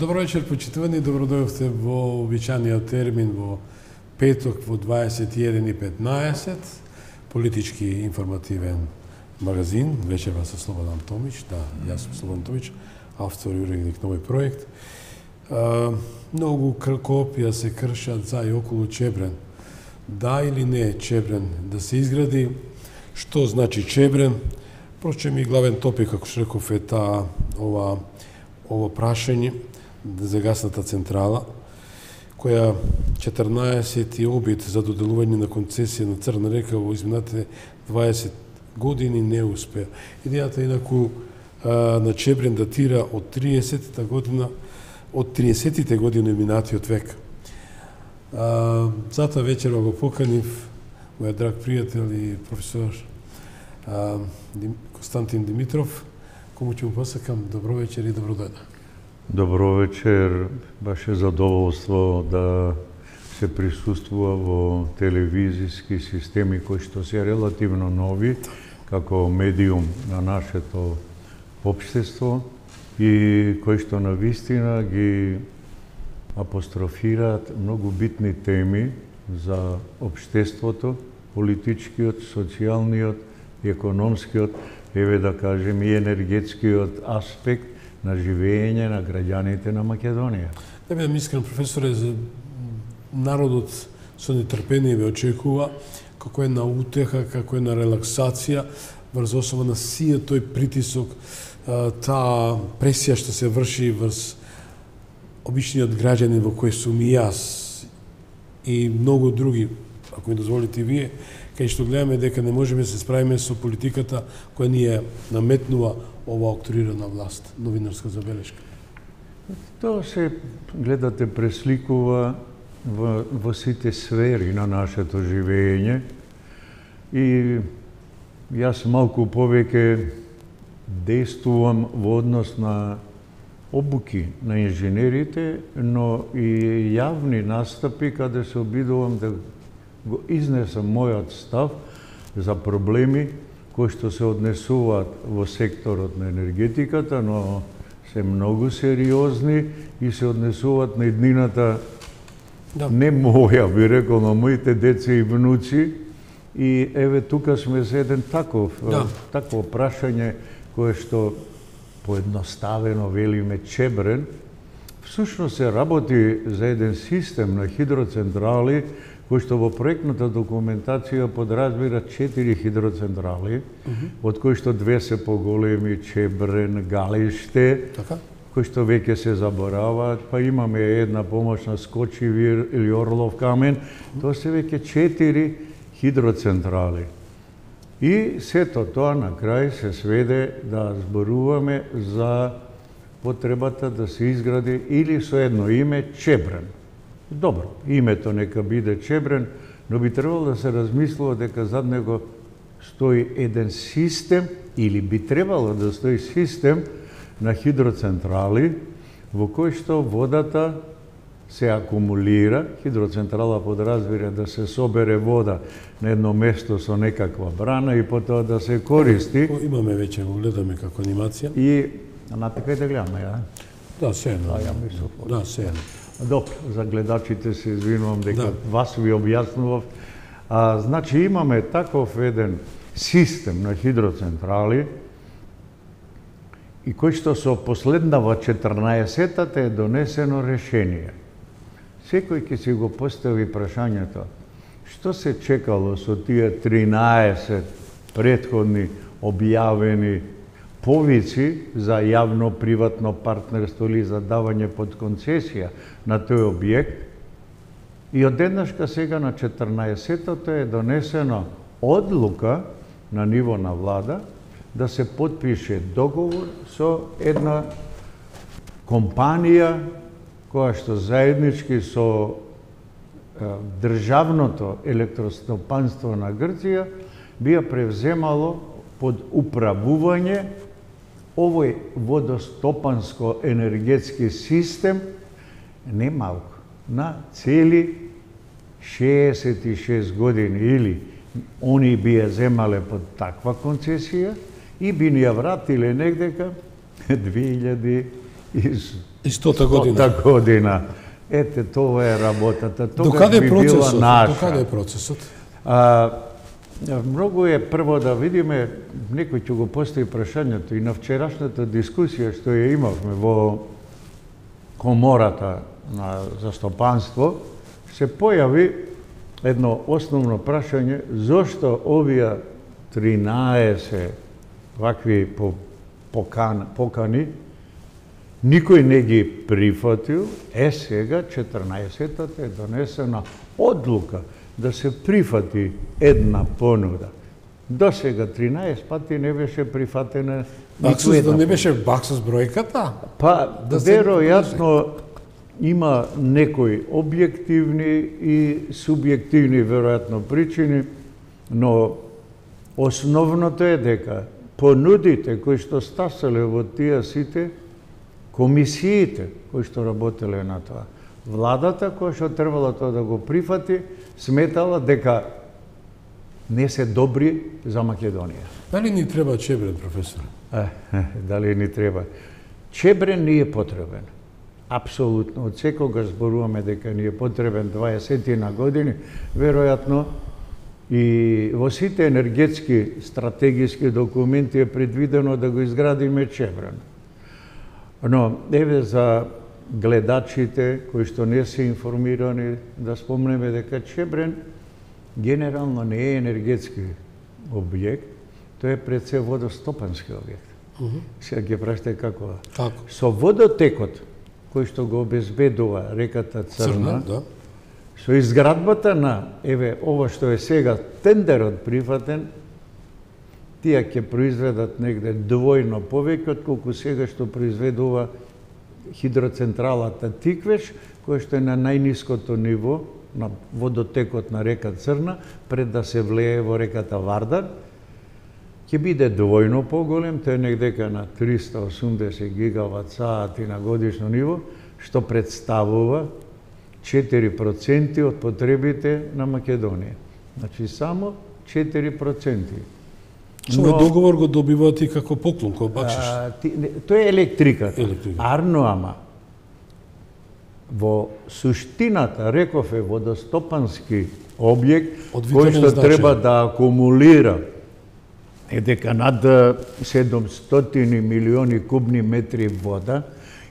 Добро вечер, почитувани, добродојавте во обичаниот термин во петок во 21:15, политички информативен магазин, вечерва со Слободан Томич, да, јас сум Слободан Томич, автор и уредник на овој проект. Многу копија се кршат за и околу Чебрен. Да или не Чебрен да се изгради, што значи Чебрен? Впрочем и главен топик, како што реков, е ова прашање за гасната централа, која 14 обид за доделување на концесија на Црна река во изминатите 20 години не успеа. Идејата инаку на Чебрен датира од 30-та година, од 30-тите години минатиот век. Затоа вечерва го поканив мојот драг пријател и професор Константин Димитров, кому ќе му посакам добро вечер и добродојде. Добро вечер, баш е задоволство да се присуствува во телевизиски системи кои што се релативно нови како медиум на нашето општество и кои што навистина ги апострофираат многу битни теми за општеството, политичкиот, социјалниот, економскиот, еве да кажем и енергетскиот аспект на живење на граѓаните на Македонија. Да бидам искрен, професоре, народот со нетрпение ве очекува како една утеха, како една релаксација врз основа на сиот тој притисок, таа пресија што се врши врз обичниот граѓанин во кој сум и јас и многу други, ако ми дозволите и вие, кај што гледаме дека не можеме да се справиме со политиката која ни ја наметнува ова октрирана власт. Новинарска забелешка. Тоа се, гледате, пресликува во сите сфери на нашето живење и јас малку повеќе действувам во однос на обуки на инженерите, но и јавни настапи каде се обидувам да го изнесам мојот став за проблеми кои што се однесуваат во секторот на енергетиката, но се многу сериозни и се однесуваат на иднината, не моја, би рекол, на моите деца и внуци. И еве тука сме за еден такво прашање кое што поедноставено велиме Чебрен. Всушност се работи за еден систем на хидроцентрали кој што во проектната документација подразбира 4 хидроцентрали, од кои што 2 се поголеми, Чебрен, Галиште, кои што веќе се забораваат, па имаме една помошна Скочивир или Орлов камен, тоа се веќе 4 хидроцентрали. И сето тоа на крај се сведе да зборуваме за потребата да се изгради или со едно име Чебрен. Добро, името нека биде Чебрен, но би требало да се размислува дека зад него стои еден систем, или би требало да стои систем на хидроцентрали, во кој што водата се акумулира, хидроцентрала подразбира да се собере вода на едно место со некаква брана и потоа да се користи. Имаме веќе, го гледаме како анимација. И натака да гледаме, ја? Да, се едно. Да, се едно. Добро, за гледачите се извинувам дека вас ви објаснував. Значи имаме таков еден систем на хидроцентрали и кој што со последнава 14-тата е донесено решение. секој ќе си го постави прашањето, што се чекало со тие 13 претходни објавени повици за јавно-приватно партнерство или за давање под концесија на тој објект, и одеднашка сега на 14-тото е донесено одлука на ниво на влада да се потпише договор со една компанија која што заеднички со државното електростопанство на Грција би ја превземало под управување овој водостопанско-енергетски систем, не малку, на цели 66 години, или они би ја земале под таква концесија и би ни ја вратиле негдека 2100 година. Ете, това е работата. Докаде би била наша. Докаде е процесот? Многу е прво да видиме, некој ќе го постави прашањето и на вчерашната дискусија што ја имавме во комората на застопанство, се појави едно основно прашање, зошто овие 13 вакви покани никој не ги прифатил, сега 14-тата е донесена одлука да се прифати една понуда. До сега 13 пати не беше прифатена ниту една. Не беше баксус бројката? Па, веројатно има некои објективни и субјективни веројатно причини, но основното е дека понудите кои што стасале во тие сите комисиите кои што работеле на тоа, владата која што требала тоа да го прифати, сметала дека не се добри за Македонија. Дали ни треба Чебрен, професор? Дали ни треба? Чебрен ни е потребен. Апсолутно. Од секогаш зборуваме дека ни е потребен 20 на години, веројатно и во сите енергетски стратегиски документи е предвидено да го изградиме Чебрен. Но еве за гледачите кои што не се информирани да спомнеме дека Чебрен генерално не е енергетски објект, тој е пред се водостопански објект. Сега ќе прашате како? Со водотекот кој што го обезбедува реката Црна, со изградбата на, еве, ова што е сега тендерот прифатен, тие ќе произведат негде двојно повеќе отколку сега што произведува хидроцентралата Тиквеш, која што е на најниското ниво на водотекот на река Црна, пред да се влее во реката Вардар, ќе биде двојно поголем, тој е негдека на 380 гигават сати на годишно ниво, што представува 4% од потребите на Македонија. Значи, само 4%. Со овој договор го добивате како поклон, кој бакшиш? Тој е електриката. Арно, ама, во суштината, реков е водостопански објект, кој што треба да акумулира дека над 700 милиони кубни метри вода,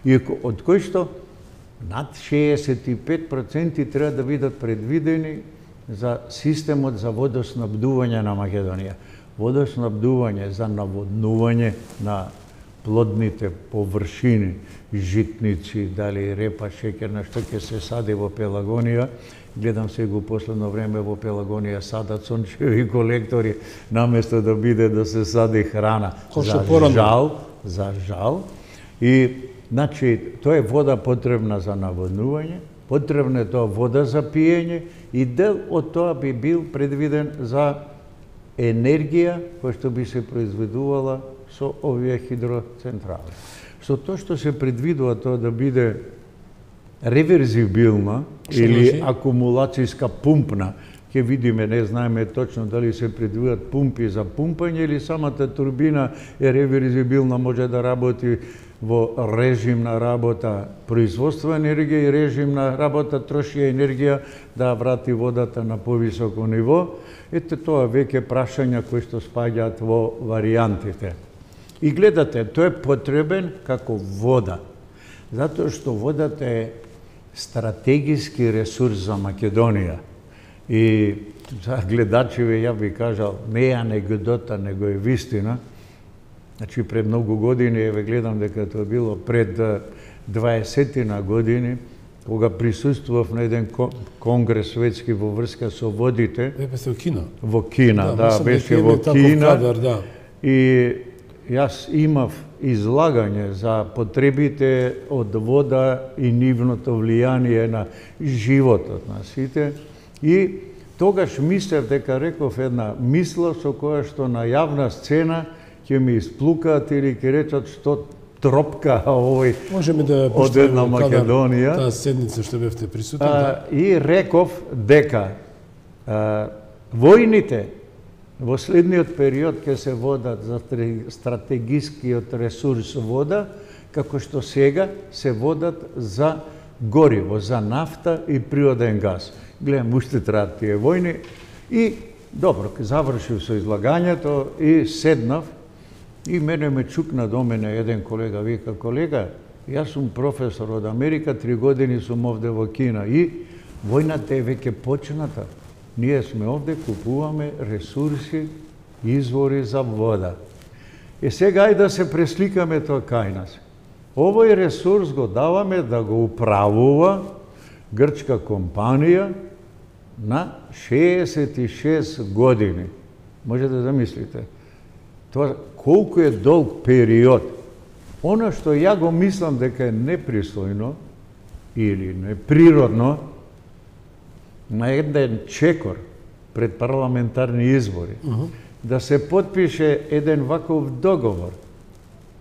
и од кој што над 65% треба да бидат предвидени за системот за водоснабдување на Македонија. Водоснабдување за наводнување на плодните површини, житници, дали репа, шеќерна, што ќе се сади во Пелагонија. Гледам сега у последно време во Пелагонија садат сончеви колектори, наместо да биде да се сади храна. За жал. И, значи, тоа е вода потребна за наводнување, потребна е тоа вода за пиење и дел од тоа би бил предвиден за енергија која што би се произведувала со овие хидроцентрали. Со тоа што се предвидува тоа да биде реверзибилна или акумулацијска пумпна, ќе видиме, не знаеме точно дали се предвидат пумпи за пумпање или самата турбина е реверзибилна, може да работи во режим на работа производство енергија и режим на работа троши енергија да врати водата на повисоко ниво. Ете тоа веќе прашања кои што спаѓаат во варијантите. И гледате, тој е потребен како вода, затоа што водата е стратегиски ресурс за Македонија. И за гледачиве ја би кажал, не е анегдота, него е вистина. Значи, пред многу години, еве гледам дека тоа било пред 20 години, кога присуствував на еден конгрес светски во врска со водите. Беше во Кина. Во Кина, да, беше во Кина. Да. И јас имав излагање за потребите од вода и нивното влијание на животот на сите. И тогаш мислев дека реков една мисла со која што на јавна сцена ќе ми исплукаат или ќе речат што тропка овој можеме да од една Македонија. Таа седница што бевте присутни. И реков дека војните во следниот период ќе се водат за стратегискиот ресурс вода, како што сега се водат за гориво, за нафта и природен газ. Гледам, уште траат тие војни и добро, завршив со излагањето и седнав и мене ме чукна до мене еден колега, вика, колега, јас сум професор од Америка, 3 години сум овде во Кина и војната е веќе почната. Ние сме овде, купуваме ресурси, извори за вода. И сега ајде да се пресликаме тоа кај нас. Овој ресурс го даваме да го управува грчка компанија на 66 години. Може да замислите. Тоа колку е долг период. Оно што ја го мислам дека е непристојно или неприродно, на еден чекор пред парламентарни избори, да се потпише еден ваков договор.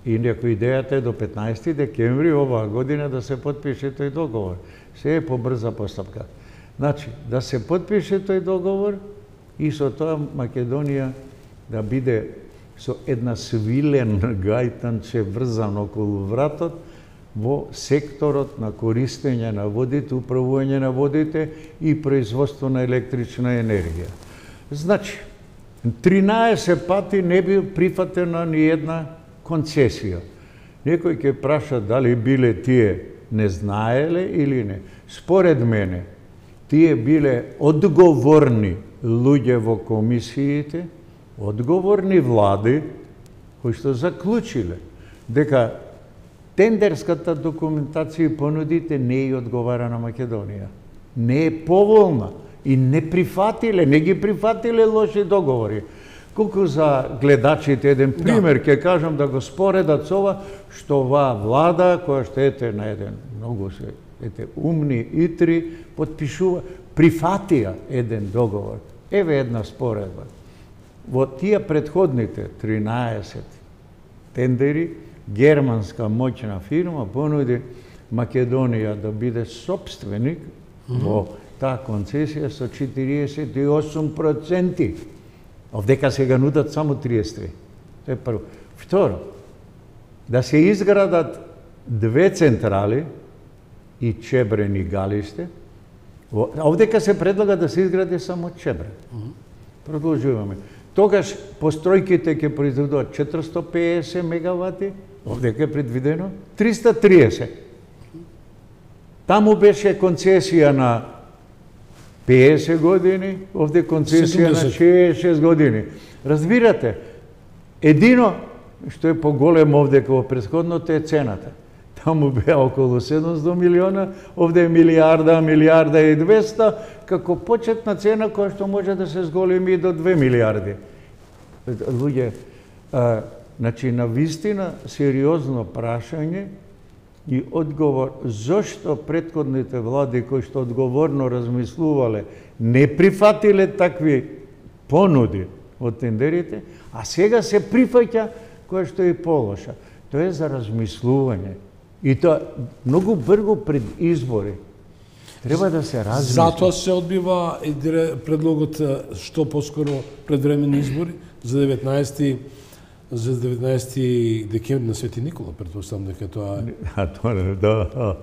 И некој идејата е до 15 декември оваа година да се потпише тој договор. Се е побрза постапка. Значи, да се потпише тој договор и со тоа Македонија да биде со една свилен гајтанче врзан околу вратот во секторот на користење на водите, управување на водите и производство на електрична енергија. Значи, 13 пати не би прифатена ни една концесија. Некој ќе праша дали биле тие не знаеле или не. Според мене, тие биле одговорни луѓе во комисиите, одговорни влади, кои што заклучиле дека тендерската документација и понудите не ја одговара на Македонија. Не е поволна и не прифатиле, не ги прифатиле лоши договори. Колку за гледачите еден пример ќе кажам да го споредат со ова, што оваа влада, која што ете на еден многу се умни итри, потпишува, прифатија еден договор. Еве една споредба. Во тие предходните 13 тендери, германска моќна фирма понуди Македонија да биде сопственик во таа концесија со 48%. Овдека сега нудат само 33. Тоа е прво. Второ, да се изградат 2 централи и Чебрен и Галиште. Овдека се предлага да се изгради само Чебрен. Продолжуваме. Тогаш постројките ќе произведуваат 450 мегавати, овдека е предвидено 330. Таму беше концесија на 50 години, овде концесија на 66 години. Разбирате, едино што е поголемо овде во претходното е цената. Таму беа околу 700 милиона, овде е милиарда, милиарда и 200, како почетна цена која што може да се зголеми до 2 милиарди. Луѓе, значи, на вистина сериозно прашање и одговор зошто претходните влади кои што одговорно размислувале не прифатиле такви понуди од тендерите, а сега се прифаќа која што е полоша. Тоа е за размислување. И тоа многу брзо пред избори. Треба да се размисли. Затоа се одбива предлогот што поскоро предвременни избори за 19 декември на Свети Никола, претпоставам дека тоа тоа да.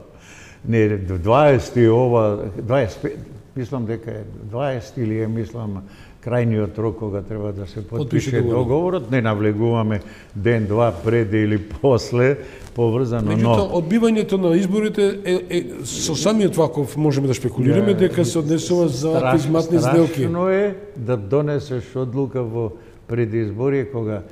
Не, 20 ова 25 мислам дека е 20 или е, мислам, крајниот рок кога треба да се Потпише подпише договорот, не навлегуваме ден-два пред или после, поврзано, Меѓутоа, но... одбивањето на изборите со самиот ваков можеме да шпекулираме дека се однесува за изматни сделки. Страшно е да донесеш одлука во предизборие кога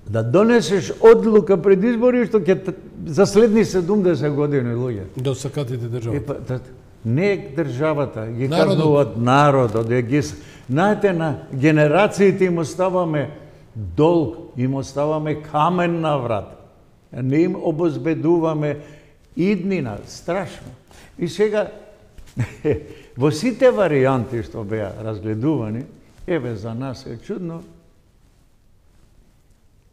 да донесеш одлука пред избори што ќе за следни 70 години луѓе. Да сакатите државата. Не државата, ги Народот. кажнуваат народот, ги знаете, на генерациите им оставаме долг, им оставаме камен на врат. Не им обезбедуваме иднина, страшно. И сега во сите варијанти што беа разгледувани, еве за нас е чудно,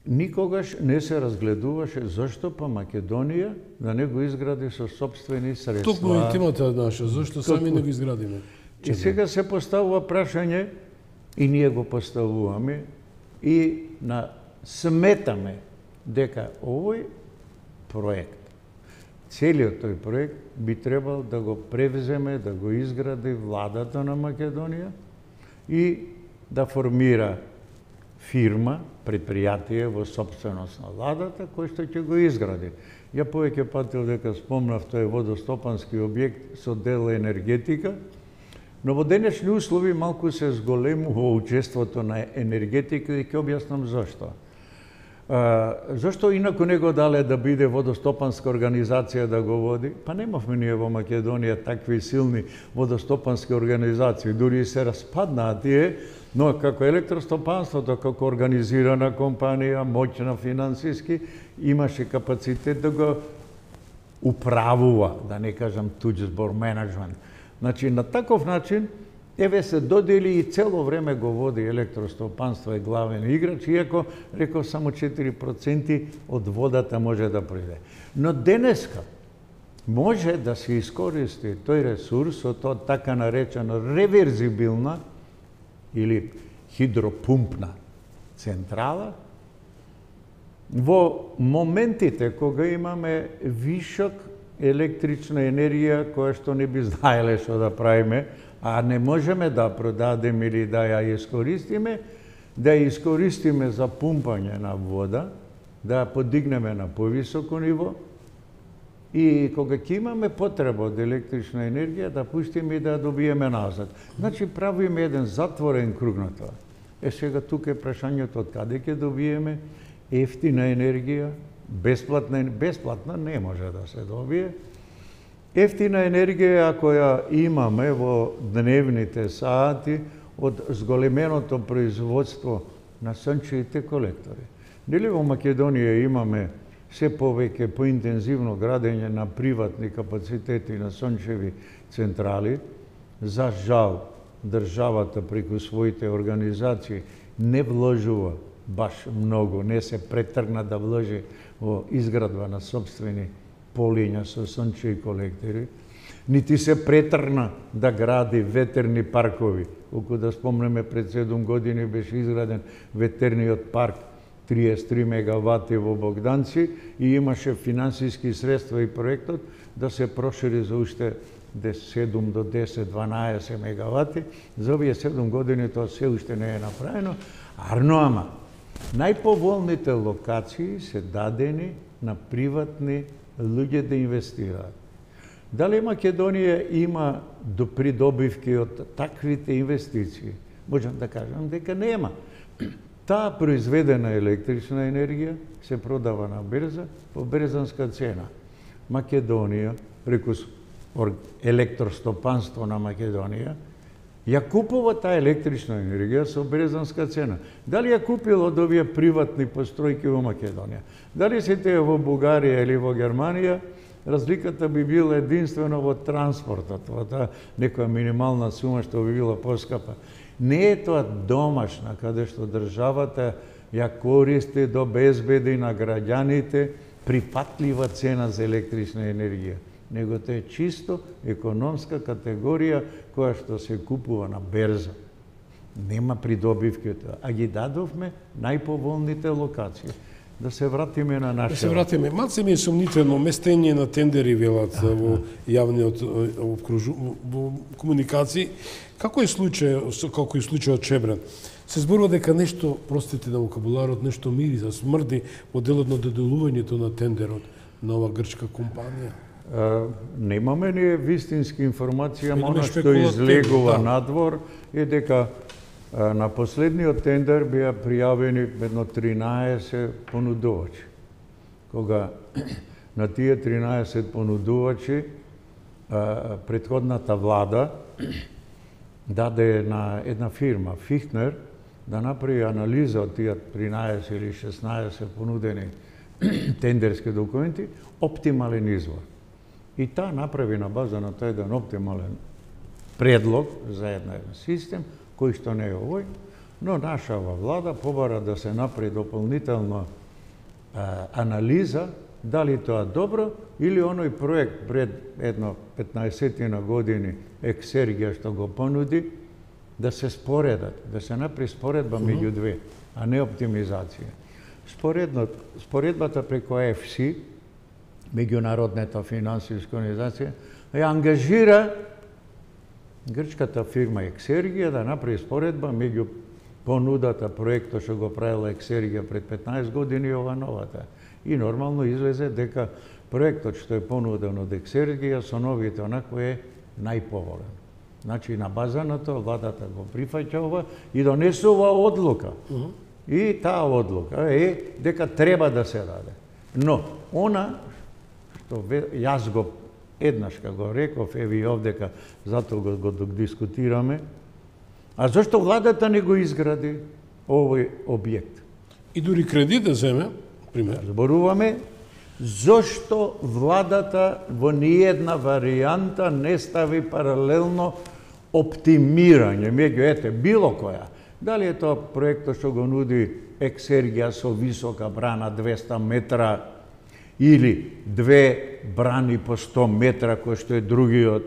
никогаш не се разгледуваше зашто па Македонија да не го изгради со сопствени средства. Токму и темата наша, зашто сами не го изградиме? И сега се поставува прашање, и ние го поставуваме, и сметаме дека овој проект, целиот тој проект би требал да го превземе, да го изгради владата на Македонија и да формира фирма, предпријатие во сопственост на владата, кој што ќе го изгради. Ја повеќе пати дека спомнав, тој водостопански објект со дел енергетика, но во денешни услови малку се зголемува учеството на енергетика и ќе објаснам зашто. Зашто инаку не го дале да биде водостопанска организација да го води? Па немавме ние во Македонија такви силни водостопански организации, дури и се распаднаа тие, но како електростопанството, како организирана компанија, моќна финансиски, имаше капацитет да го управува, да не кажам туѓ збор, менеджмент. Значи, на таков начин, еве се додели и цело време го води електростопанство, е главен играч, иако, реков, само 4% од водата може да приде. Но денеска може да се искористи тој ресурс од тоа така наречена реверзибилна или хидропумпна централа во моментите кога имаме вишок електрична енергија која што не би знаеле што да правиме, а не можеме да продадеме или да ја искористиме, да ја искористиме за пумпање на вода, да ја подигнеме на повисоко ниво и кога ќе имаме потреба од електрична енергија, да пуштиме и да ја добиеме назад. Значи, правиме еден затворен круг на тоа. Сега тука е прашањето од каде ќе добиеме ефтина енергија, бесплатна не може да се добие. Ефтина енергија, ако ја имаме во дневните сати од зголеменото производство на сончевите колектори. Дали во Македонија имаме се повеќе поинтензивно градење на приватни капацитети на сончеви централи, за жал, државата преку своите организации не вложува баш многу, не се претргна да вложи во изградба на сопствени полиња со сончеви колектори, нити се претргна да гради ветерни паркови. Колку да спомнеме, пред 7 години беше изграден ветерниот парк 33 мегавати во Богданци и имаше финансиски средства и проектот да се прошири за уште 7 до 10-12 мегавати. За овие 7 години тоа се уште не е направено. Ама, најповолните локации се дадени на приватни луѓе да инвестираат. Дали Македонија има придобивки од таквите инвестиции? Можам да кажам дека нема. Таа произведена електрична енергија се продава на берза по берзанска цена. Македонија, преку електростопанство на Македонија, ја купува таа електрична енергија со берзанска цена. Дали ја купила од овие приватни постројки во Македонија? Дали се тие во Бугарија или во Германија? Разликата би била единствено во транспортот, во таа некоја минимална сума што би била поскапа. Не е тоа домашна, каде што државата ја користи до безбеди на граѓаните прифатлива цена за електрична енергија, него тоа е чисто економска категорија која што се купува на берза. Нема придобивки од тоа, а ги дадовме најповолните локации. да се вратиме на нашето. Да се вратиме. Малце ми е сомнително местење на тендери, велат, во јавниот во комуникации. Како е случајот Чебрен? Се зборува дека нешто, простите на вокабуларот, нешто мириса, смрди во делот на доделувањето на тендерот на ова грчка компанија. Немаме ние вистински информација, оно што излегува надвор е дека на последниот тендер беа пријавени едно 13 понудувачи. Кога на тие 13 понудувачи претходната влада даде на една фирма, Фихнер, да направи анализа од тие 13 или 16 понудени тендерски документи, оптимален извор. И таа направи на база на тој еден оптимален предлог за еден систем, кој што не е овој, но нашава влада побара да се направи дополнително анализа дали тоа добро или оној проект пред едно 15 години Ексергија што го понуди, да се споредат, да се направи споредба меѓу две, а не оптимизација. Споредбата преку ЕФСИ, меѓународната финансиска организација, ја ангажира грчката фирма Ексергија да направи споредба меѓу понудата проектот што го правила Ексергија пред 15 години и ова новата. И нормално излезе дека проектот што е понуден од Ексергија со новите онако е најповолен. Значи на база на тоа владата го прифаќа ова и донесува одлука. И таа одлука е дека треба да се даде. Но она што јас го еднаш го реков, еви овдека, затоа го дискутираме, а зашто владата не го изгради овој објект? И дури кредит да земе, пример. Зборуваме зошто владата во ниедна варијанта не стави паралелно оптимирање меѓу било која. Дали е тоа проектот што го нуди Ексергија со висока брана 200 метра или две брани по 100 метра, кој што е другиот,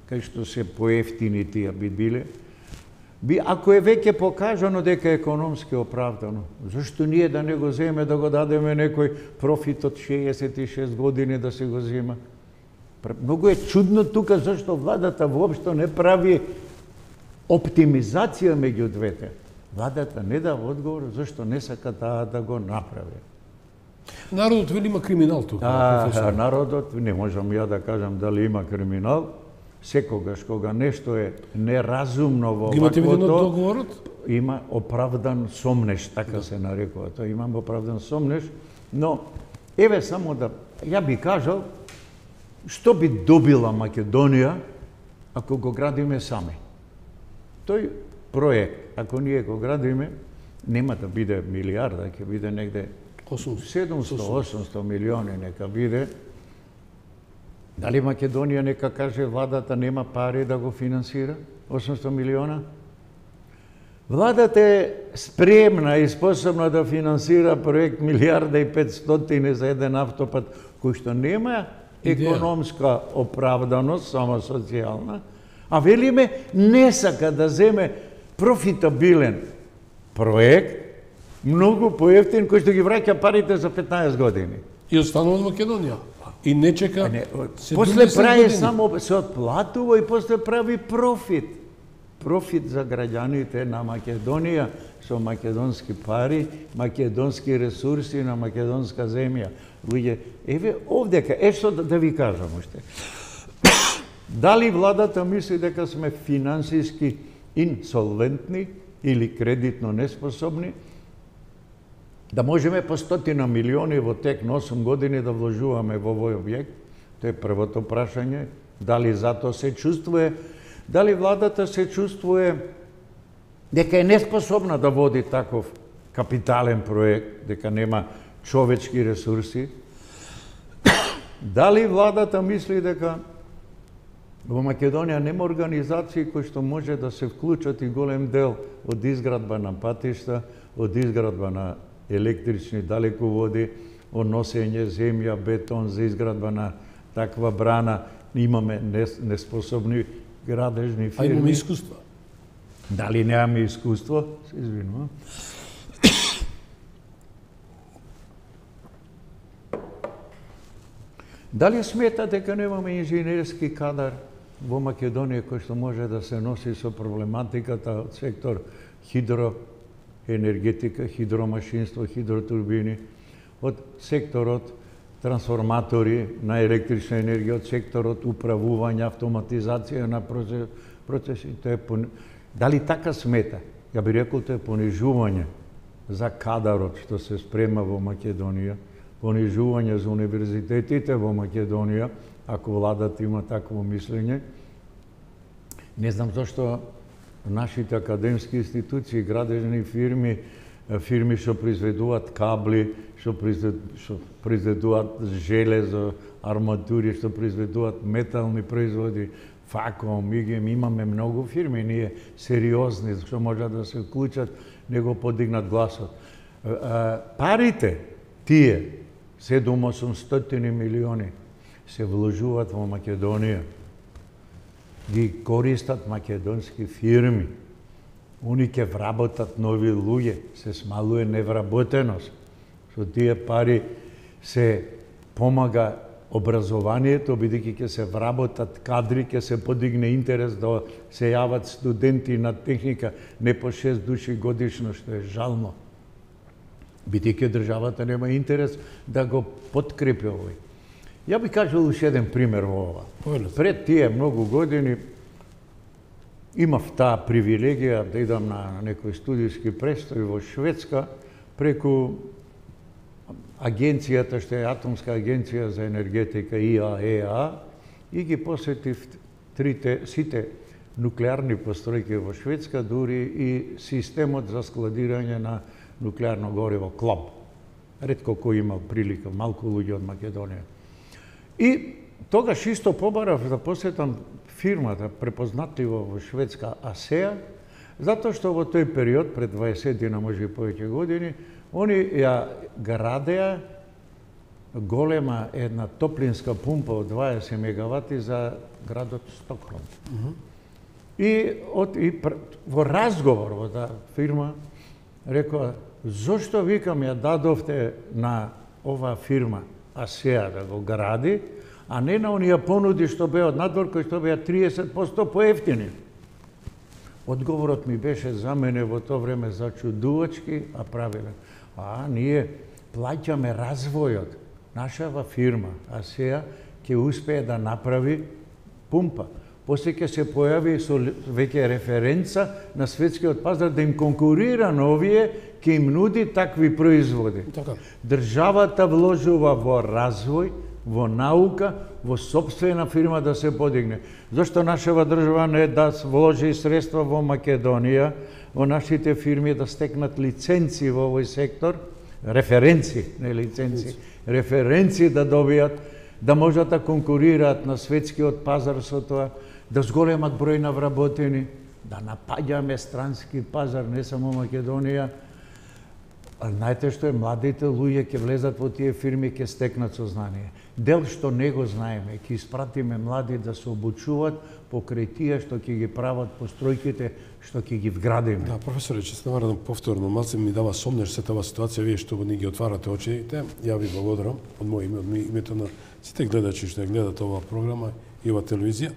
кај што се поевтини тие би биле. Ако е веќе покажано дека е економски оправдано, зашто ние да не го земе, да го дадеме некој профит од 66 години да се го зема? Многу е чудно тука зашто владата воопшто не прави оптимизација меѓу двете. Владата не дава одговор зашто не сака таа да го направи. Народот вели има криминал тука. Народот, не можам ја да кажам дали има криминал. Секогаш кога нешто е неразумно во договорот, има оправдан сомнеш, така се нарекува. Тоа имам оправдан сомнеш, но еве само да ја би кажал што би добила Македонија ако го градиме сами. Тој проект, ако ние го градиме, нема да биде милиарда, ќе биде негде 700-800 милиони нека биде. Дали Македонија нека каже владата нема пари да го финансира 800 милиона? Владата е спремна и способна да финансира проект 1.500.000 за еден автопат кој што нема економска оправданост, само социјална, а велиме не сака да земе профитабилен проект, многу поевтин кој што ги враќа парите за 15 години. И останува од Македонија. И не чека. После прави само се отплатува и после прави профит. Профит за граѓаните на Македонија со македонски пари, македонски ресурси на македонска земја. Луѓе, еве овдека, што да ви кажам уште. Дали владата мисли дека сме финансиски инсолвентни или кредитно неспособни, да можеме по 100 милиони во тек на 8 години да вложуваме во овој објект? Тоа е првото прашање. Дали затоа се чувствува? Дали владата се чувствува дека е неспособна да води таков капитален проект, дека нема човечки ресурси? Дали владата мисли дека во Македонија нема организации кои што може да се вклучат и голем дел од изградба на патишта, од изградба на електрични далеководи, од носење земја, бетон за изградба на таква брана? Имаме неспособни градежни фирми. А имаме искуство. Дали немаме искуство? Се извинувам. Дали смета дека немаме инженерски кадар во Македонија кој што може да се носи со проблематиката од сектор хидроенергетика, хидромашинство, хидротурбини, од секторот трансформатори на електрична енергија, од секторот управување, автоматизација на процесите. Дали така смета? Ја би рекол тоа е понижување за кадарот што се спрема во Македонија, понижување за универзитетите во Македонија, ако владата има такво мислење. Не знам зашто нашите академски институции, градежни фирми, фирми што произведуваат кабли, што произведуваат железо, арматури, што произведуваат метални производи, Факом, ИГЕМ, имаме многу фирми, ние сериозни, што можат да се вклучат, не го подигнат гласот. Парите, тие, 700-800 милиони, се вложуваат во Македонија. Ги користат македонски фирми. Они ќе вработат нови луѓе, се смалуе невработеност. Со тие пари се помага образованието, бидејќи ќе се вработат кадри, ќе се подигне интерес да се јават студенти на техника, не по 6 души годишно, што е жално. Бидејќи државата нема интерес да го подкрепи овој. Ја би кажал уште еден пример во ова. Пред тие многу години имав таа привилегија да идам на некој студиски престој во Шведска преку агенцијата што е Атомска агенција за енергетика ИАЕА и ги посетив сите нуклеарни постројки во Шведска, дури и системот за складирање на нуклеарно гориво КЛАБ. Ретко кој имал прилика, малку луѓе од Македонија. И тогаш исто побарав да посетам фирмата препознатлива во Шведска АСЕА, затоа што во тој период, пред 20 на може и повеќе години, они ја градеа голема една топлинска пумпа од 20 мегавати за градот Стокхолм. И во разговор во таа фирма рекоа, зошто викам ја дадовте на оваа фирма АСЕА да го гради, а не на оние понуди што беа од надвор, кои што беа 30% поевтини. Одговорот ми беше за мене во тоа време зачудувачки, а правилен. Ние плаќаме развојот. Нашава фирма АСЕА ќе успее да направи пумпа. После ќе се појави со веќе референца на светскиот пазар да им конкурира на овие, ќе им нуди такви производи. Државата вложува во развој, во наука, во сопствена фирма да се подигне. Зошто нашава држава не да вложи средства во Македонија, во нашите фирми да стекнат лиценци во овој сектор, референци, не лиценци, референци да добијат, да можат да конкурираат на светскиот пазар со тоа, да зголемат број на вработени, да напаѓаме странски пазар, не само Македонија. Знаете што е, младите луѓе ќе влезат во тие фирми, ќе стекнат сознание. Дел што не го знаеме, ќе испратиме млади да се обучуваат покрај тие што ќе ги прават постројките, што ќе ги вградиме. Да, професоре, че се наварам повторно, малце ми дава сомнеш се таа ситуација, вие што ни ги отварате очите. Ја ви благодарам од моје име, од името на сите гледачи што ја гледат оваа програма и оваа телевизија.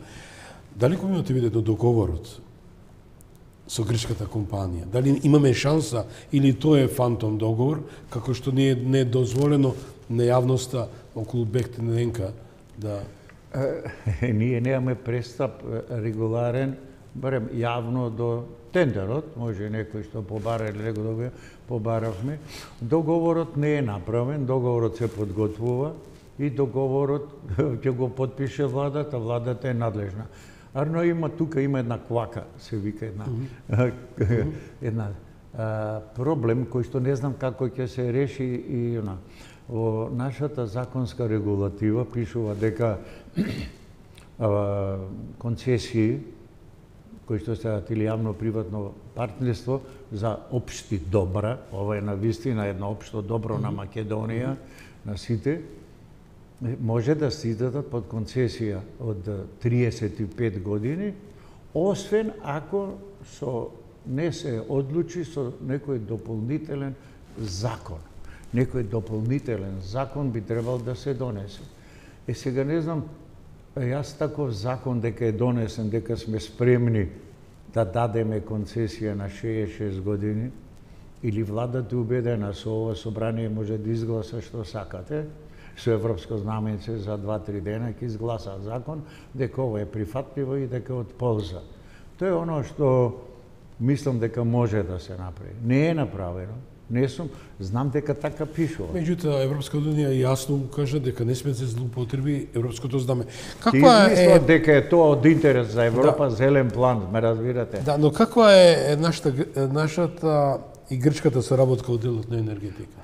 Дали го имате видено договорот со грчката компанија? Дали имаме шанса или тоа е фантом договор, како што не е дозволено на јавноста околу БЕХ-ТННК да... Ние немаме пристап регуларен, барем јавно до тендерот, може некој што побара или него добија, побаравме. Договорот не е направен, договорот се подготвува и договорот ќе го подпише владата, владата е надлежна. Арно има тука има една квака, се вика една проблем кој што не знам како ќе се реши и она. Во нашата законска регулатива пишува дека концесии кои што се или јавно-приватно партнерство за општи добра, ова е навистина едно општо добро на Македонија, на сите, може да се издадат под концесија од 35 години, освен ако не се одлучи со некој дополнителен закон. Некој дополнителен закон би требал да се донесе. Сега не знам, јас таков закон дека е донесен, дека сме спремни да дадеме концесија на 66 години, или владата е убедена со ова собрание може да изгласа што сакате, со европско знаменце за 2-3 дена ќе изгласа закон, дека ова е прифатливо и дека е од полза. Тоа е оно што мислам дека може да се направи. Не е направено. Не сум, знам дека така пишува. Меѓутоа, Европска унија јасно кажа дека не сме се злоупотреби европското знаме. Ти мислам дека е тоа од интерес за Европа, зелен план, ме разбирате? Да, но каква е нашата и грчката соработка од делот на енергетика?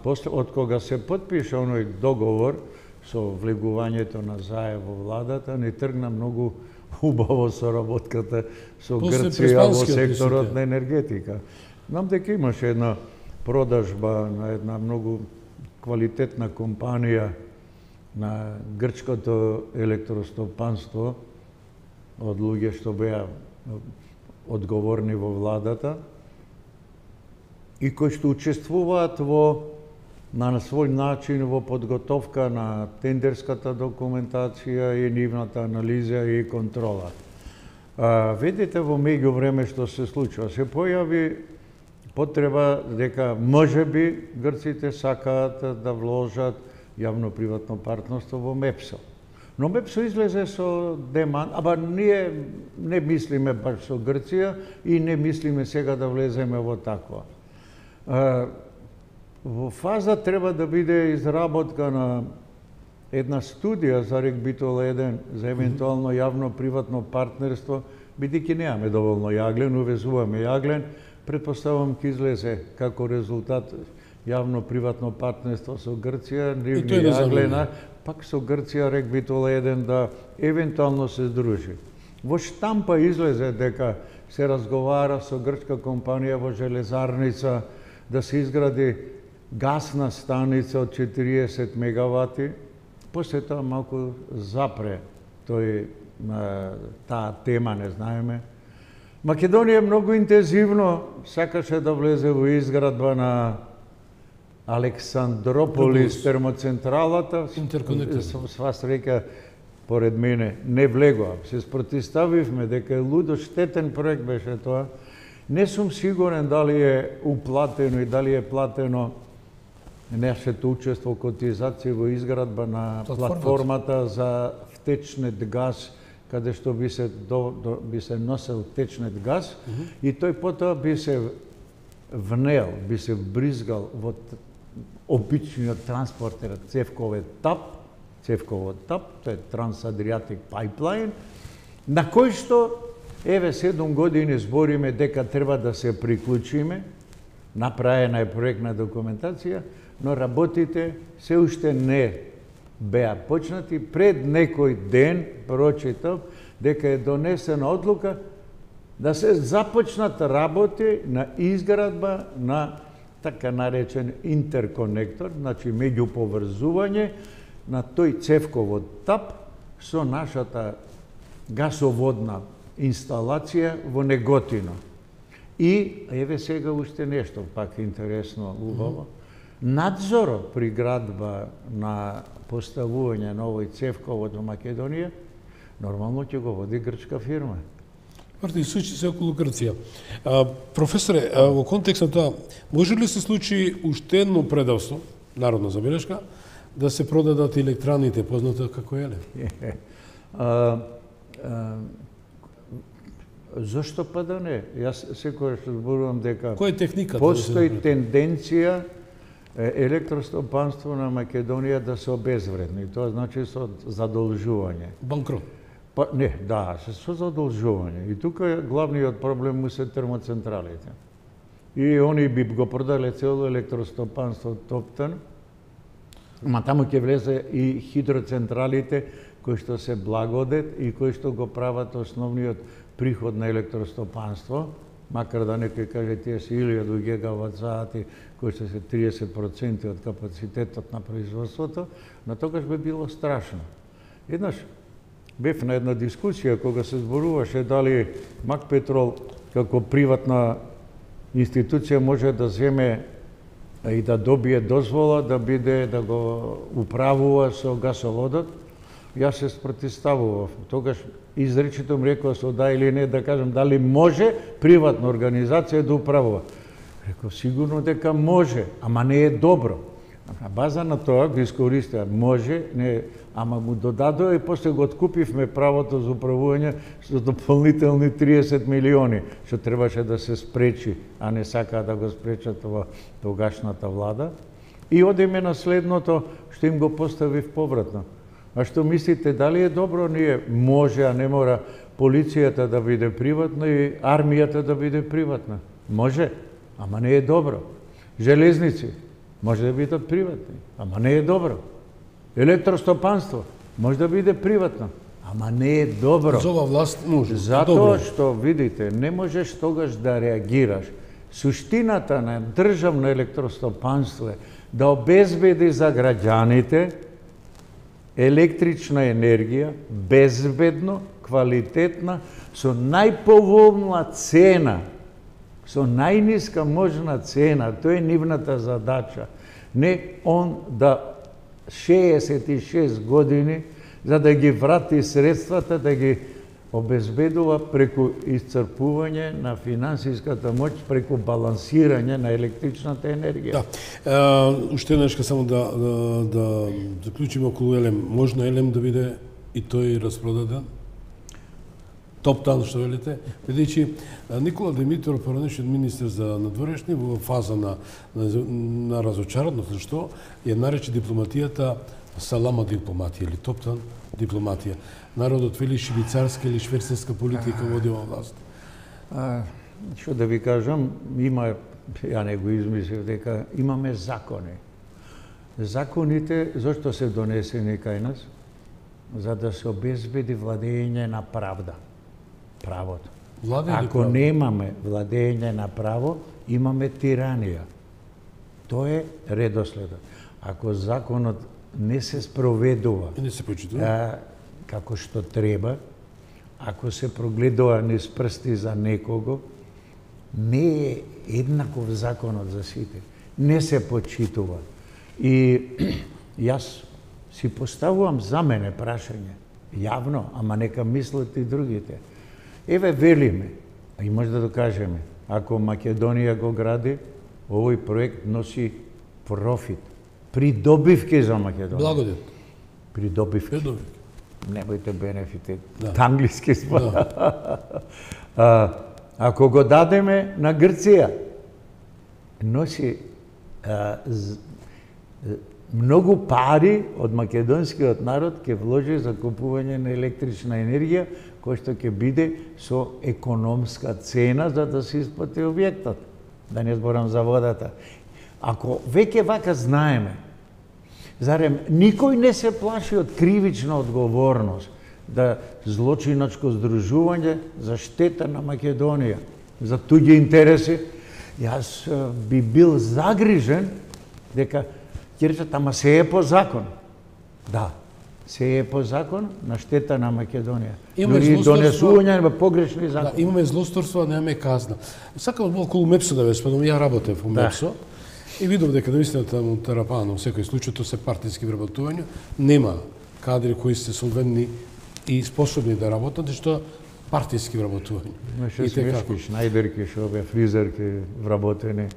После, од кога се потпиша оној договор со влегувањето на заем во владата, не тргна многу убаво соработката со Грција во секторот на енергетика. Знам дека имаше една продажба на една многу квалитетна компанија на грчкото електростопанство од луѓе што беа одговорни во владата и кои што учествуваат на свој начин во подготовка на тендерската документација и нивната анализа и контрола. Видите во меѓувреме што се случува, се појави потреба дека можеби грците сакаат да вложат јавно-приватно партнерство во МЕПСО. Но МЕПСО излезе со деман, ние не мислиме баш со Грција и не мислиме сега да влеземе во таква. Во фаза треба да биде изработка на една студија за Рек Битола 1 за евентуално јавно-приватно партнерство, бидејќи немаме доволно јаглен, увезуваме јаглен, предпоставам ќе излезе како резултат јавно-приватно партнерство со Грција, нивни јаглена, пак со Грција Рек Битола 1 да евентуално се здружи. Во штампа излезе дека се разговара со грчка компанија во железарница да се изгради гасна станица од 40 мегавати, после тоа малку запре таа тема, не знаеме. Македонија многу интензивно сакаше да влезе во изградба на Александрополис термоцентралата. Сва среќа, поред мене, не влегоа. Се спротивставивме дека е лудо штетен проект беше тоа. Не сум сигурен дали е уплатено и дали е платено нашето учество котизација во изградба на платформата за втечнет газ, каде што би се носел течнет газ и тој потоа би се внел, би се вбризгал во обичниот транспортер Цевковиот ТАП, тоа е Trans-Adriatic Pipeline, на кој што, 7 години збориме дека треба да се приклучиме, направена е проектна документација, но работите се уште не беа почнати. Пред некој ден прочитав дека е донесена одлука да се започнат работи на изградба на така наречен интерконектор, значи меѓуповрзување на тој Цевковот ТАП со нашата гасоводна инсталација во Неготино. И еве сега уште нешто пак интересно, убаво. Надзорот при градба на поставување на овој Цевковод во Македонија нормално ќе го води грчка фирма. И случи се околу Грција. Професоре, во контекст на тоа, може ли се случи уште едно предавство, народна забелешка, да се продадат електраните, познато како ЕЛЕ? Зошто па да не? Јас секогаш зборувам дека која е техниката? Постои тенденција електростопанство на Македонија да се обезвредни. Тоа значи со задолжување. Банкрот. Па не, да, со задолжување. И тука главниот проблем му се термоцентралите. И они би го продале цело електростопанство топтан, ма таму ќе влезе и хидроцентралите кои што се благодет и кои што го прават основниот приход на електростопанство, макар да некој каже тие се 1000 гигават сати, кои што се 30% од капацитетот на производството, но тогаш би било страшно. Еднаш бев на една дискусија кога се зборуваше дали Макпетрол како приватна институција може да земе и да добие дозвола да биде да го управува со гасоводот, јас се спротивставував. Тогаш изречито ми рекоа со да или не, да кажам дали може приватна организација да управува. Реков сигурно дека може, ама не е добро. На база на тоа го искористија, може, не, ама му додадоа и после го откупивме правото за управување со дополнителни 30 милиони, што требаше да се спречи, а не сакаа да го спречат во тогашната влада. И одиме на следното, што им го поставив повратно. А што мислите, дали е добро ние може, а не мора полицијата да биде приватна и армијата да биде приватна? Може, ама не е добро. Железници може да бидат приватни, ама не е добро. Електростопанство може да биде приватно, ама не е добро. За ова власт може. Затоа што, видите, не можеш тогаш да реагираш. Суштината на државно електростопанство е да обезбеди за граѓаните електрична енергија, безбедно, квалитетна, со најповолна цена, со најниска можна цена. Тоа е нивната задача. Не он да 66 години за да ги врати средствата, да ги обезбедува преку исцрпување на финансиската моќ, преку балансирање на електричната енергија. Да. Уште еднашка само да заклучиме околу Елем. Можно Елем да биде и тој распродаден? Топтан, што велите, бидејќи Никола Димитров, поранешен министер за надворешни, во фаза на разочараност, што ја нарече дипломатијата салама дипломатија или топтан дипломатија. Народот вели швицарска или шверцерска политика води ова власт. Што да ви кажам, има, ја не го измислив, дека имаме закони. Законите, зашто се донесени кај нас? За да се обезбеди владење на правда. Правото. Ако немаме владење на право, имаме тиранија. Тоа е редоследот. Ако законот не се спроведува, не се почитува како што треба, ако се прогледува низ прсти за некого, не е еднаков законот за сите. Не се почитува. И јас си поставувам за мене прашање, јавно, ама нека мислат и другите. Еве велиме, и може да докажеме, ако Македонија го гради, овој проект носи профит, придобивки за Македонија. Благодет. Придобивки. Немојте бенефити. Да. Англиски спада. Да. Ако го дадеме на Грција, носи многу пари од македонскиот народ ќе вложи за купување на електрична енергија, кој што ќе биде со економска цена за да се исплати објектот. Да не зборам за водата. Ако веќе вака знаеме, зарем никој не се плаши од кривична одговорност, да злочиначко здружување за штета на Македонија, за туѓи интереси, јас би бил загрижен дека ќе речат, ама се е по закон. Да, се е по закон на штета на Македонија. Дори донесување на погрешни закони. Да, имаме злосторство, немаме казна. Сакам од околу МЕПСО да ве спомнам, ја работев во МЕПСО и видов дека наистина таму Тарапано, во секој случај, тоа се партиски вработувања, нема кадри кои се солвентни и способни да работат, што партиски вработувања. Имаше смешки, шнајдерки, шобе, фризерки вработени.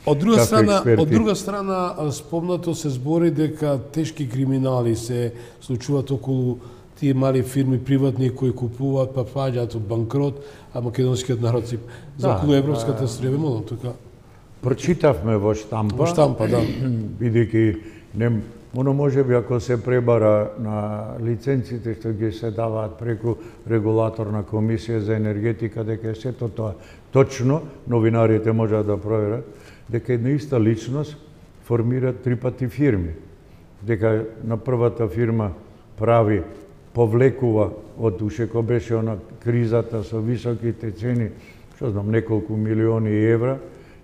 Од друга страна, спомнато се збори дека тешки криминали се случуваат околу тие мали фирми приватни кои купуваат, па паѓаат од банкрот, а македонскиот народ си за околу европската стребемоно, така. Прочитавме во штампа. Во штампа, да. Бидејќи оно можеби ако се пребара на лиценците што ги се даваат преку регулаторна комисија за енергетика, дека е сето тоа точно, новинарите можат да проверат, дека една иста личност формира 3 пати фирми. Дека на првата фирма прави, повлекува од уште кога беше она кризата со високите цени, што знам, неколку милиони евра,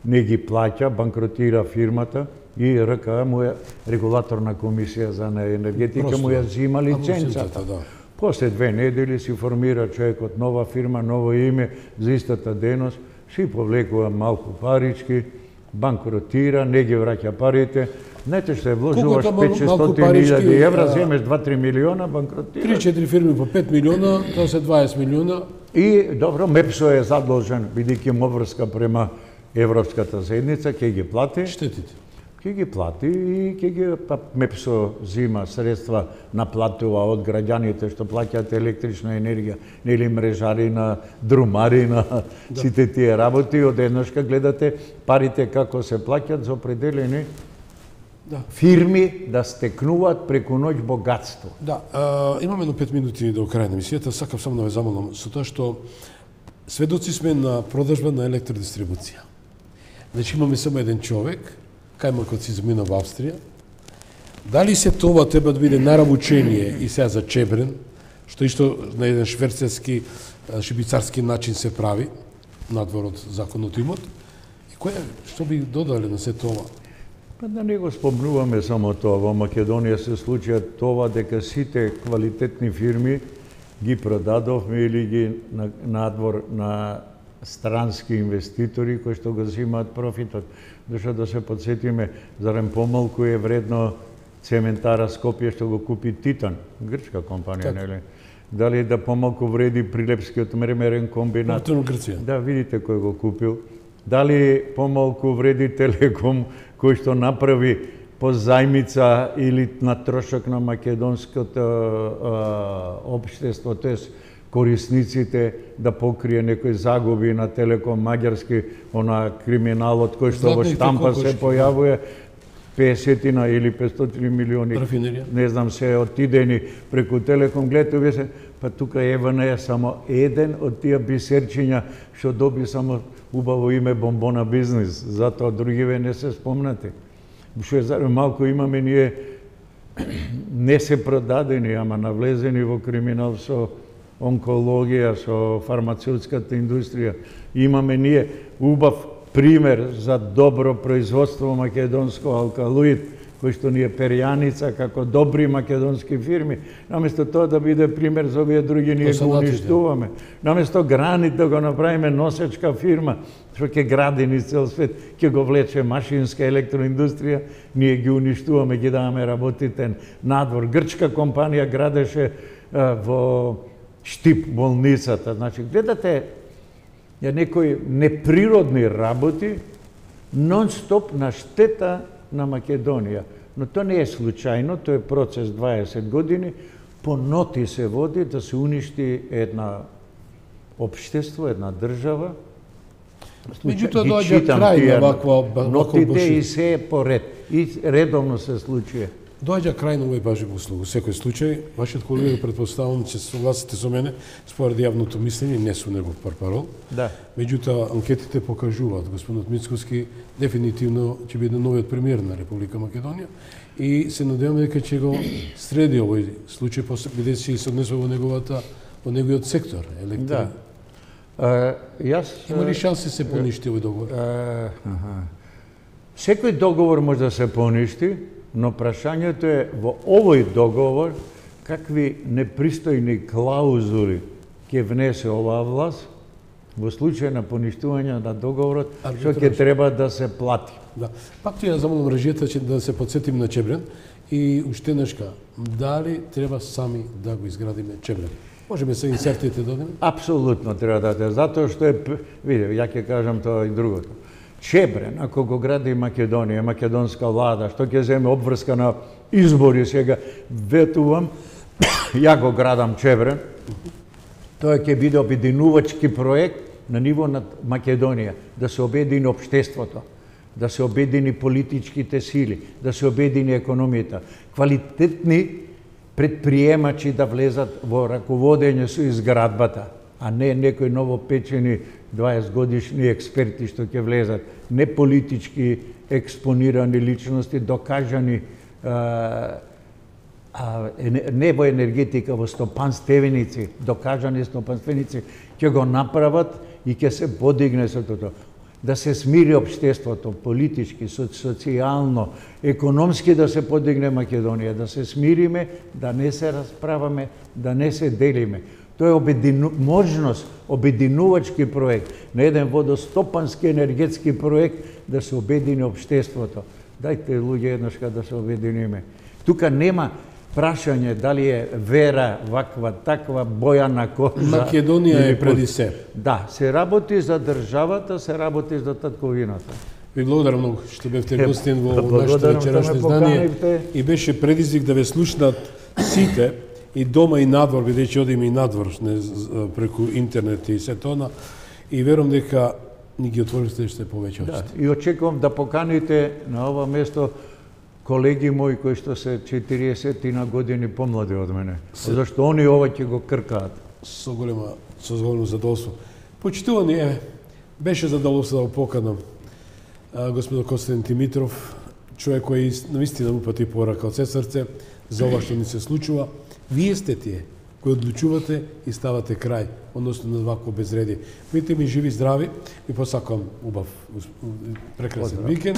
не ги плаќа, банкротира фирмата и РКА му е регулаторна комисија за енергетика му ја зима лиценцата. Да. После 2 недели си формира човекот нова фирма, ново име за истата деност, си повлекува малку парички, банкротира, не ги враќа парите. Знаете што е вложуваш Колку е тоа 500.000 евра, земеш 2-3 милиона, банкротира. 3-4 фирми по 5 милиона, тоа се 20 милиона. И добро, МЕПСО е задолжен, бидејќи има врска према Европската заедница, ќе ги плати. Штетите. Ќе ги плати и ќе ги МЕПСО зима средства, наплатува од граѓаните што плаќаат електрична енергија, нели мрежари, на друмари, на сите тие работи. Одеднашка гледате парите како се плаќаат за определени фирми да стекнуваат преку ноќ богатство. Да, имаме едно 5 минути до крај на емисијата, сакам само да ве замолам со тоа што сведоци сме на продажба на електродистрибуција. Значи имаме само еден човек, кајмакот си замина во Австрија. Дали се тоа треба да биде наравучение и сега за Чебрен, што исто на еден шверцерски, шибицарски начин се прави, надвор од законот имот, и што би додале на се тоа? Па да не го спомнуваме само тоа, во Македонија се случија тоа дека сите квалитетни фирми ги продадовме или ги надвор на странски инвеститори кои што го земаат профитот. Зашто да се подсетиме, зарем помалку е вредно цементара Скопје што го купи Титан, грчка компанија, нели? Дали да помалку вреди Прилепскиот мермерен комбинат? Грција. Да, видите кој го купил. Дали помалку вреди Телеком кој што направи по зајмица или на трошок на македонското општество, тоест корисниците да покрие некои загуби на Телеком Маѓарски, она криминалот кој што во штампа се појавува, 50 или 500 милиони, не знам, се отидени преку Телеком. Гледате, се, па тука ЕВН е само еден од тие бисерчиња што доби само убаво име Бомбона бизнес, затоа другиве не се спомнати. Што е малку имаме ние не се продадени, ама навлезени во криминал со онкологија, со фармацевтската индустрија. Имаме ние убав пример за добро производство македонско алкалоид, кој што ни е перјаница како добри македонски фирми. Наместо тоа да биде пример за овие други, ние го уништуваме. Наместо гранит да го направиме носечка фирма, што ќе гради низ цел свет, ќе го влече машинска електроиндустрија, ние ги уништуваме, ги даваме работите надвор. Грчка компанија градеше во Штип болницата. Значи, гледате некои неприродни работи, нон-стоп на штета на Македонија. Но тоа не е случајно, тоа е процес 20 години, по ноти се води да се уништи една општество, една држава. Меѓутоа доаѓа крај на ваква нотите и се е поред. И редовно се случува. Доаѓа крај на овој бажи услуг. Во секој случај, вашиот колега претпоставувам ќе се согласите со мене според јавното мислење, не со негов парпарол. Да. Меѓутоа анкетите покажуваат господинот Мицкоски дефинитивно ќе биде новиот премиер на Република Македонија и се надеваме дека ќе го среди овој случај бидејќи се однесува во неговиот сектор електро. Да. Има ли шанси се поништи овој договор? Секој договор може да се поништи, но прашањето е во овој договор какви непристојни клаузули ќе внесе оваа власт во случај на поништување на договорот, што ќе треба да се плати. Да. Пак ти ја замолам режијата да се подсетим на Чебрен и уште нешка, дали треба сами да го изградиме Чебрен? Можеме се инсертите да дадеме? Апсолутно треба да дадеме, затоа што е, види, ја ќе кажам тоа и другото. Чебрен, ако го гради Македонија, македонска влада, што ќе земе обврска на избори сега, ветувам, ја го градам Чебрен, тоа ќе биде обединувачки проект на ниво на Македонија, да се обедини општеството, да се обедини политичките сили, да се обедини економијата, квалитетни предприемачи да влезат во раководење со изградбата, а не некои новопечени 20 годишни експерти што ќе влезат, не политички експонирани личности, докажани не во енергетика, во стопанственици, докажани стопанственици, ќе го направат и ќе се подигне со тоа. Да се смири општеството, политички, социјално, економски да се подигне Македонија, да се смириме, да не се расправаме, да не се делиме. Тоа е можност, обединувачки проект, на еден водостопански енергетски проект да се обедини општеството. Дајте луѓе еднашка да се обединиме. Тука нема прашање дали е вера, ваква, таква, боја на кожа. Македонија е преди се. Да, се работи за државата, се работи за татковината. Ви благодарам многу што бевте гостин во нашето вечерашно издание и беше предизвик да ве слушнат сите и дома и надвор, бидејќи одиме и надвор преку интернет и се тоа, и верувам дека ни ги отворите што повеќе очите. Да, и очекувам да поканите на ова место колеги мои кои што се 40 години помлади од мене, зашто они ова ќе го кркаат. Со големо задоволство. Почитувани, беше задоволство да го поканам господин Константин Димитров, човек кој навистина упати порака од се срце за ова што ни се случува. Вие сте тие кои одлучувате и ставате крај, односно на вакво безредие. Бидете ми живи, здрави и посакам убав прекрасен викенд.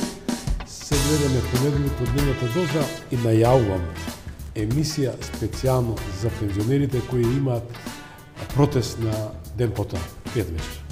Се гледаме понеделник од дневната доза и најавувам емисија специјално за пензионерите кои имаат протест на ден потоа. Пријатен вечер.